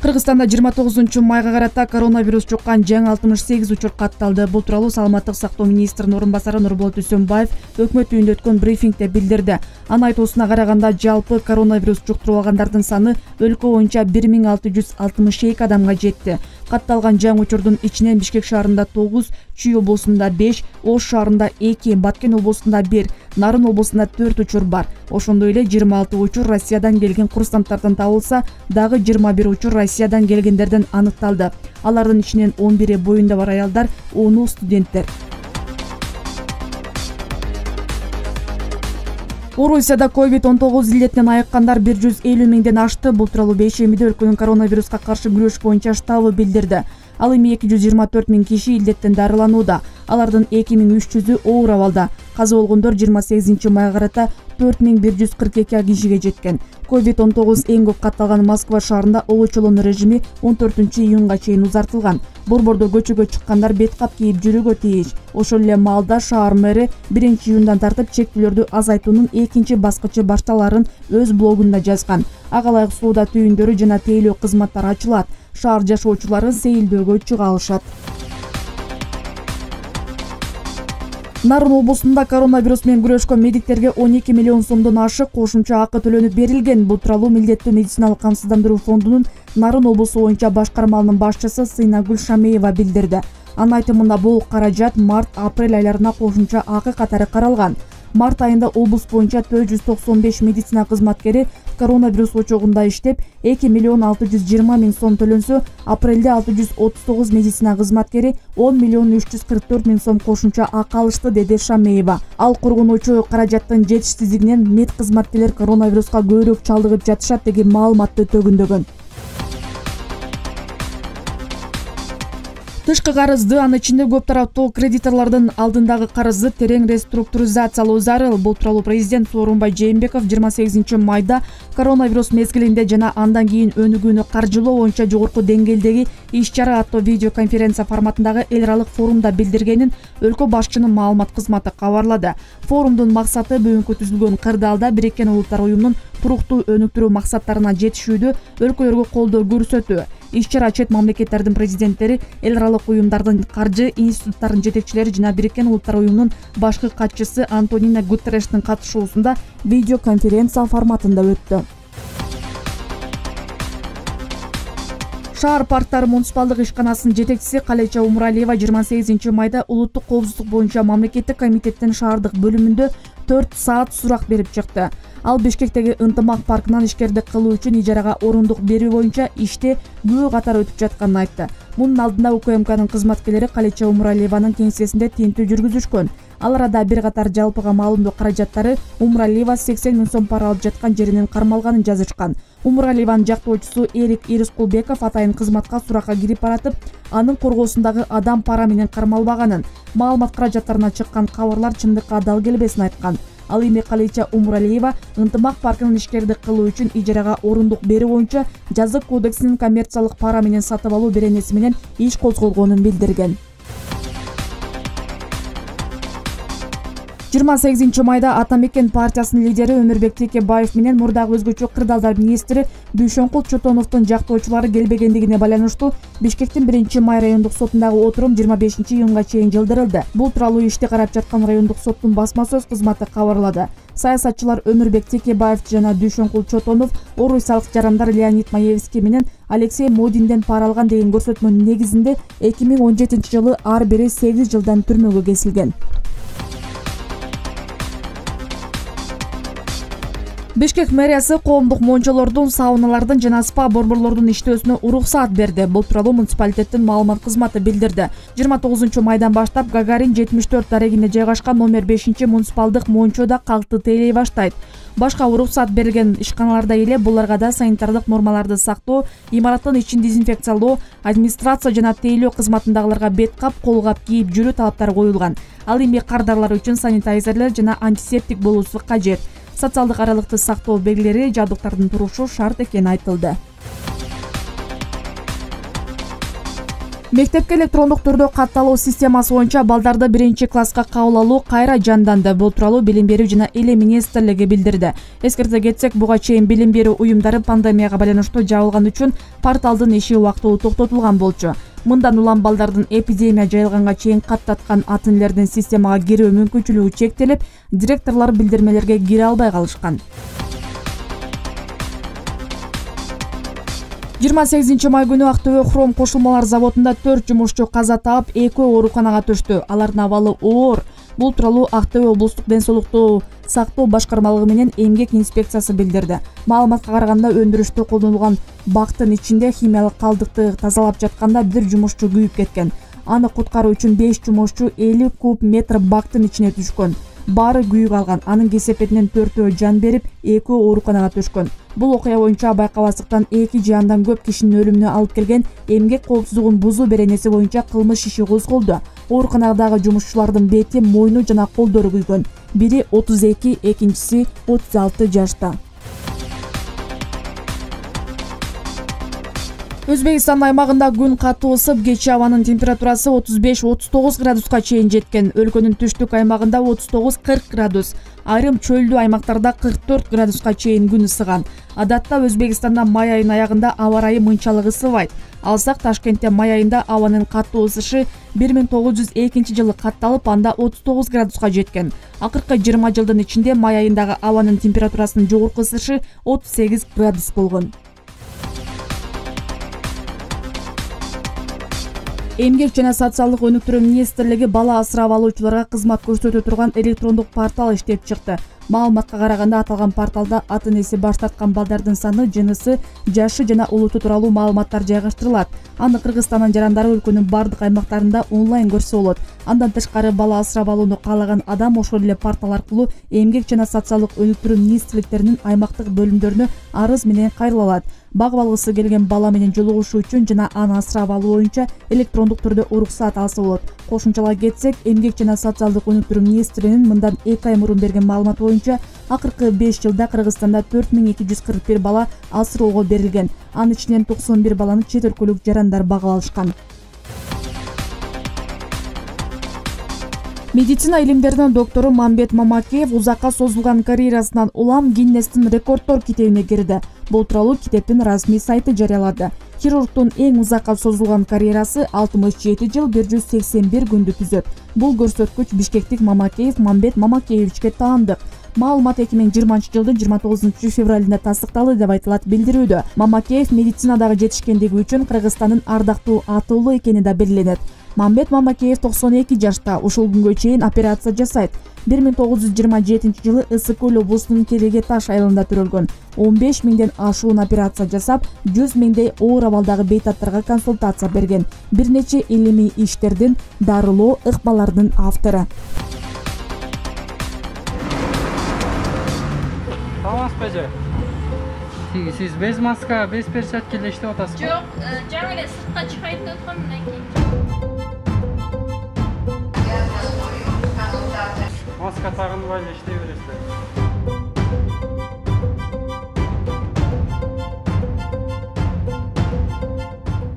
Кыргызстанда 29-майга карата коронавирус жуккан жаңы 68 учур катталды. Бул тууралуу Саламаттык сактоо министринин орун басары Нурболот Үсөнбаев өкмөт үйүндө өткөн брифингде билдирди. Анын айтуусуна караганда жалпы коронавирус жуктуруп алгандардын саны өлкө боюнча 1662 адамга жетти. Катталган жаңы учурдун ичинен Бишкек шаарында 9, Чүй облусунда 5, Ош шаарында 2, Баткен облусунда 1, Нарын облусунда 4 учур бар. Ошондой эле 26 учур Россиядан келген курсанттардан табылса, дагы 21 учур Россиядан келгендерден аныкталды. Алардын ичинен 11 боюнда бар аялдар, 10 студенттер. Орусияда COVID-19 илетинен айыккандар 150 миңден ашты. Бул тууралуу бейшембиде өлкөнүн коронавируска каршы күрөш боюнча штабы билдирди. Ал эми 224 миң киши илеттен дарыланууда. Алардын 2300-ü оор абалда. Каза болгондор 28-майга карата 4142 кишиге жеткен. COVID-19 эң көп катталган Москва шаарында олочолонуу режими 14-июнга чейин узартылган. Борбордо көчөгө чыккандар бет кап кийип жүрүүгө тийиш. Ошол эле маалда шаар мэри 1-июндан тартып чектөөлөрдү азайтуунун экинчи баскычы башталарын өз блогунда жазган. Ага ылайык соода түйүндөрү жана тейлөө кызматтары ачылат. Шаар жашоочулары сейилдөөгө чыга алышат. Нарын облусунда коронавирус менен күрөшкөн медиктерге 12 миллион сомдон ашык кошумча акы төлөнүп берилген. Бул тууралуу Милдеттүү медициналык камсыздандыруу фондунун Нарын облусу боюнча башкармалынын башчысы Сыйнагүл Шамеева билдирди. Анын айтымында бул каражат март-апрель айларына кошумча акы катары каралган. Март айында облус боюнча 495 медицина кызматкери коронавирус очогунда иштеп, 2 миллион 620 миң сом төлөнсө, апрелде 639 медицина кызматкери 10 миллион 344 миң сом кошумча акы алышты, деди Шамеева. Ал кургунуучу каражаттын жетишсиздигинен мед кызматкерлер коронавируска көбүрөөк чалдыгып жатышат деген маалыматты төгүндөгөн. Тышкы карызды, анын ичинде көп тараптуу кредиторлордун алдындагы карызды терең реструктуризациялоо зарыл. Бул тууралуу президент Сооронбай Жээнбеков 28-майда коронавирус мезгилинде жана андан кийин өнүгүүнү каржылоо боюнча жогорку деңгээлдеги иш-чара аттуу видеоконференция форматындагы эл аралык форумда билдиргенин өлкө башчынын маалымат кызматы кабарлады. Форумдун максаты бүгүнкү түзүлгөн кырдаалда Бириккен Улуттар уюмунун туруктуу өнүктүрүү максаттарына жетишүүдө өлкөлөргө колдоо көрсөтүү. Иш-чара чет мамлекеттердин президенттери, эл аралык уюмдардын каржы институттарынын жетекчилери жана Бириккен Улуттар уюмунун башкы катчысы Антонино Гутеррештин катышуусунда видеоконференция форматында өттү. Шаар парктары муниципалдык ишканасынын жетекчиси Калеча Умуралиева 28-майда улуттук коопсуздук боюнча мамлекеттик комитеттин шаардык бөлүмүндө 4 саат сурак берип чыкты. Ал Бишкектеги Ынтымак паркынан ишкердик кылуу үчүн ижарага орундук берүү боюнча иште күбө катар өтүп жатканын айтты. Мунун алдында УКМКнын кызматкерлери Калеча Умуралиеванын кеңсесинде тинтүү жүргүзүшкөн. Ал арада бир катар жалпыга маалымдоо каражаттары Умуралиева 80 миң сом пара алып жаткан жеринен кармалганын жазышкан. Умуралиеванын жактоочусу Эрик Ирискулбеков атайын кызматка суракка кирип баратып, анын коргоосундагы адам пара менен кармалбаганын, маалымат каражаттарына чыккан кабарлар чындыкка дал келбесин айткан. Ал эми Калеча Умуралиева Ынтымак паркынын ишкердик кылуу үчүн ижарага орундук берүү боюнча жазык кодексинин коммерциялык пара менен сатып алуу беренеси менен иш козголгонун билдирген. 28-майда Ата Мекен партиясынын лидери Өмүрбек Текебаев менен мурдагы өзгөчө кырдаалдар министри Дүйшөнкул Чотоновдун жактоочулары келбегендигине байланыштуу Бишкектин 1-май райондук сотундагы отурум 25-июнга чейин жылдырылды. Бул тууралуу ишти карап жаткан райондук соттун басма сөз кызматы кабарлады. Саясатчылар Өмүрбек Текебаев жана Дүйшөнкул Чотонов орусиялык жарандар Леонид Маевский менен Алексей Модинден пара алган деген көрсөтмөнүн негизинде 2017-жылы ар бири 8 жылдан түрмөгө кесилген. Бишкек мэриясы коомдук мончолордун, сауналардын жана спа борборлордун иштөөсүнө уруксаат берди. Бул тууралуу муниципалитеттин маалымат кызматы билдирди. 29-майдан баштап Гагарин 74 дарегинде жайгашкан номер 5 муниципалдык мончода калкты тейлей баштайт. Башка уруксаат берилген ишканалардай эле буларга да санитардык нормаларды сактоо, имараттын ичин дезинфекциялоо, администрация жана тейлөө кызматындагыларга бет кап, кол кап кийип жүрүү талаптары коюлган. Ал эми кардарлар үчүн санитайзерлер жана антисептик болуусу кажет. Социалдык аралыкты сактоо белгилери, жабдыктардын турушу шарт экени айтылды. Мектепке электрондук түрдө катталуу системасы боюнча балдарды 1-класска кабыл алуу кайра жанданды. Бул тууралуу Билим берүү жана Эле министрлиги билдирди. Эскерте кетсек, буга чейин билим берүү уюмдары пандемияга байланыштуу жабылган үчүн порталдын иши убактылуу токтотулган болчу. Мындан улам балдардын эпидемия жайылганга чейин каттаткан ата-энелердин системага кирүү мүмкүнчүлүгү чектелип, директорлор билдирмелерге кире албай калышкан. 28 май күнү Актөбө хром кошулмалар заводунда 4 жумушчу каза таап, 2 ооруканага түштү. Алардын абалы оор. Бул тууралуу Актөбө облустук ден соолукту сактоо башкармалыгы менен эмгек инспекциясы билдирди. Маалыматка караганда, өндүрүштө колдонулган бактын ичинде химиялык калдыкты тазалап жатканда бир жумушчу күйүп кеткен. Аны куткаруу үчүн 5 жумушчу 50 куб метр бактын ичине түшкөн. Баары күйүп алган. Анын кесепетинен 4-өө жан берип, 2 ооруканага түшкөн. Бул окуя боюнча байкабастыктан 2 же андан көп кишинин өлүмүнө алып келген эмгек коопсуздугун бузуу беренеси боюнча кылмыш иши козголду. Ооруканадагы жумушчулардын бети, мойну жана колдору күйгөн. Бири 32, экинчиси 36 жашта. Өзбекстан аймагында күн катуу ысып, кечээ абанын температурасы 35-39 градуска чейин жеткен. Өлкөнүн түштүк аймагында 39-40 градус, айрым чөлдүү аймактарда 44 градуска чейин күн ысыган. Адатта Өзбекстанда май айынын аягында аба ырайы мынчалык ысыбайт. Алсак, Ташкентте май айында абанын катуу ысышы 1902 жылы катталып, анда 39 градуска жеткен. Акыркы 20 жылдын ичинде май айындагы абанын температурасынын жогорку ысышы 38 градус болгон. Эмгек жана социалдык өнүктүрүү министрлиги бала асырап алуучуларга кызмат көрсөтө турган электрондук портал иштеп чыкты. Маалыматка караганда, аталган порталда ата-энеси баш тарткан балдардын саны, жынысы, жашы жана улуту тууралуу маалыматтар жайгаштырылат. Аны Кыргызстандын жарандары өлкөнүн бардык аймактарында онлайн көрсө болот. Андан тышкары, бала асырап алууну каалаган адам ошол эле портал аркылуу эмгек жана социалдык өнүктүрүү министрликтеринин аймактык бөлүмдөрүнө арыз менен кайрыла алат. Багып алгысы келген бала менен жолугушуу үчүн жана аны асырап алуу боюнча электрондук түрдө уруксаат алса болот. Кошумчалап кетсек, эмгек жана социалдык өнүктүрүү министринин мындан 2 ай мурун берген маалыматы боюнча, акыркы 5 жылда Кыргызстанда 4241 бала асыроого берилген. Анын ичинен 91 баланы чет өлкөлүк жарандар багып алышкан. Медицина илимдеринин доктору Мамбет Мамакеев узакка созулган карьерасынан улам Гиннестин рекорддор китебине кирди. Бул тууралуу китептин расмий сайты жарыялады. Хирургдун эң узакка созулган карьерасы 67 жыл 181 күндү түзөт. Бул көрсөткүч бишкектик Мамакеев Мамбет Мамакеевичке таандык. Маалымат 2020 жылдын 29 февралында тастыкталды деп айтылат билдирүүдө. Мамакеев медицинадагы жетишкендиги үчүн Кыргызстандын ардактуу атуулу экени да белгиленет. Мамбет Мамакеев 92 жашта, ушул күнгө чейин операция жасайт. 1927 жылы Ысык Көл облусунун Келеге Таш айылында төрөлгөн. 15 миңден ашуун операция жасап, 100 миңдей оор абалдагы бейтаттарга консультация берген. Бир нече илимий иштердин, дарылоо ыкмалардын автору. Саламатсызбы? Сиз без маска, без перчатка эле иштеп атасызбы? Жок, жаңы эле сыртка чыгайын деп аткам, мындан кийин. Маска тагынбай эле иштей бересиздер.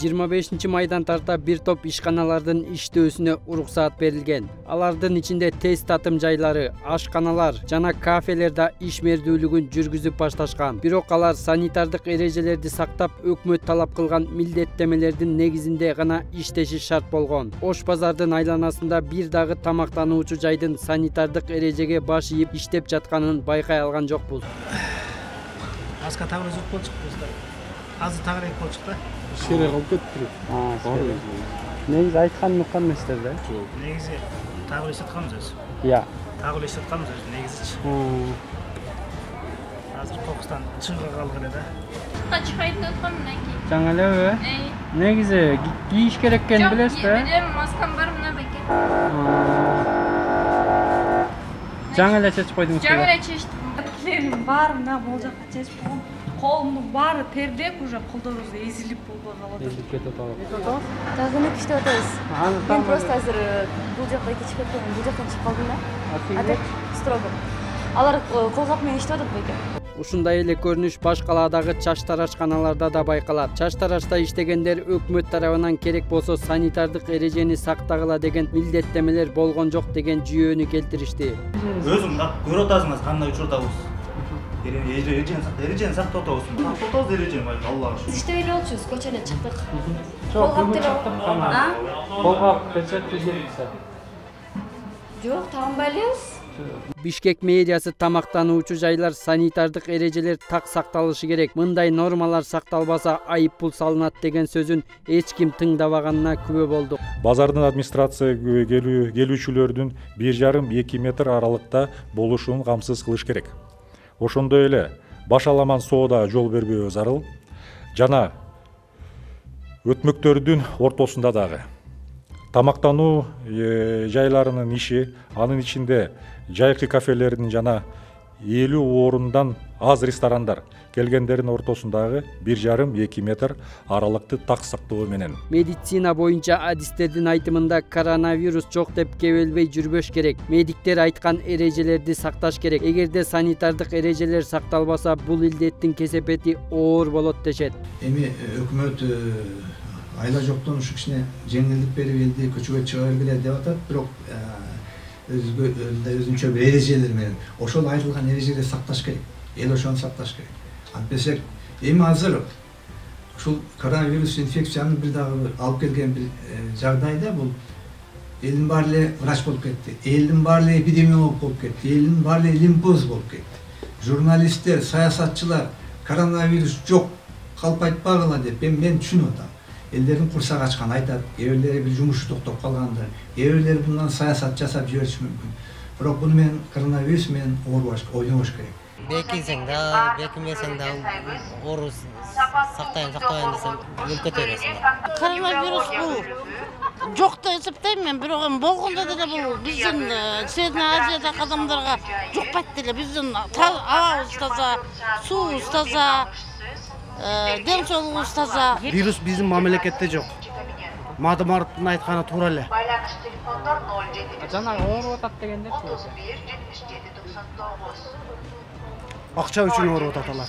25 майдан тарта бир топ ишканалардын иштөөсүнө уруксаат берилген. Алардын ичинде тест татым жайлары, ашканалар жана кафелер да ишмердүүлүгүн жүргүзүп башташкан. Бирок алар санитардык эрежелерди сактап, өкмөт талап кылган милдеттемелердин негизинде гана иштеши шарт болгон. Ош базардын айланасында бир дагы тамактануучу жайдын санитардык эрежеге баш ийип иштеп жатканын байкай алган жокпуз. Маска тагы өзүп болчук достор. Азыр тагыраак болчук да. Шере калып кетти. Негизи айткан уккан эместер да. Негизи тагы эле атканбыз өзү. Иә. Тагы эле атканбыз өзү негизичи. Азыр кокустан чыга калган эле да. Чыгайын деп аткам, мындан кийин. Жаңы элеби? Негизи кийиш керек экенин билесиз да? Билем, маскам бар мына беке. Жаңы эле чечип койдуңуз. Жаңы эле чечтим. Тилерим баары мына бул жакка чечип койгом. Колумдун баары тердеп, уже колдорубуз эзилип болбой калат. Эзилип кетип атабы? Тазалык иштеп атабыз. Мен просто азыр бул жакка кетип кеткем, бул жактан чыгып калдым да. А так строго. Алар колгап менен иштеп атат беке. Ушундай эле көрүнүш баш калаадагы чач тарашканаларда да байкалат. Чач тарашта иштегендер өкмөт тарабынан керек болсо санитардык эрежени сактагыла деген милдеттемелер болгон жок деген жүйөнү келтиришти. Өзүң көрүп атасыңыз кандай учурдабыз. Эрежени сактап атабыз. Сактап эрежени байка Аллага шүкүр. иштебей эле болчубуз, көчөнө чыктык. Колгап печатты жериксе. Жок, тагынбай элебиз. Бишкек медиасы тамактануучу жайлар санитардык эрежелер так сакталышы керек. Мындай нормалар сакталбаса айып пул салынат деген сөзүн эч ким тыңдабаганына күбө болдук. Базардын администрацияга келүүчүлөрдүн 1,5-2 метр аралыкта болушун камсыз кылыш керек. Ошондой эле башаламан соода жол бербөө зарыл. Жана өтмөктөрдүн ортосунда дагы тамактануу жайларынын иши, анын ичинде жайкы кафелердин жана 50 орундан аз ресторандар келгендердин ортосундагы 1,5-2 метр аралыкты так сактоо менен. Медицина боюнча адистердин айтымында коронавирус жок деп кебелбей жүрбөш керек. Медиктер айткан эрежелерди сакташ керек. Эгерде санитардык эрежелер сакталбаса, бул илдеттин кесепети оор болот дешет. Эми өкмөт айла жоктон ушу кичине жеңилдик берип элди көчөгө чыга бергиле деп атат, бирок өзүнчө бир эрежелер менен ошол айтылган эрежелерди сакташ керек. Эл ошону сакташ керек. Антпесек эми азыр ушул коронавирус инфекцияны бир дагы алып келген бир жагдайда бул элдин баары эле врач болуп кетти. Элдин баары эле эпидемиолог болуп кетти. Элдин баары эле лимпоз болуп кетти. Журналисттер, саясатчылар коронавирус жок, калп айтпагыла деп мен түшүнүп атам. Элдердин курсагы ачкан айтат, кээ бирлери бир жумушу токтоп калгандар, кээ бирлери bundan саясат жасап жибериши мүмкүн. Бирок буну менен коронавирус менен ойлонуш керек. Бекинсең да, бекинбесең да оору сактайын десең өлкөтө бересиң. Коронавирус бул жок деп эсептейм мен, бирок эми болгондо деле бул биздин Средний Азиядагы адамдарга жукпайт деле. Биздин абабыз таза, суубуз таза, дем соолугубуз таза. Вирус биздин мамлекетте жок. Мадымаровдун айтканы туура эле. Жана ооруп атат дегендер. Акча үчүн ооруп атат алар.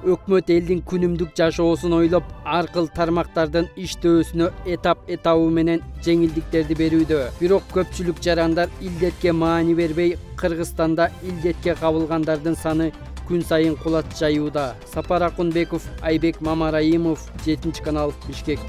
Өкмөт элдин күнүмдүк жашоосун ойлоп, ар кыл тармактардын иштөөсүнө этабы менен жеңилдиктерди берүүдө. Бирок көпчүлүк жарандар илдетке маани бербей, Кыргызстанда илдетке кабылгандардын саны күн сайын кулат жаюуда. Сапар Акунбеков, Айбек Мамараимов, 7 канал, Бишкек.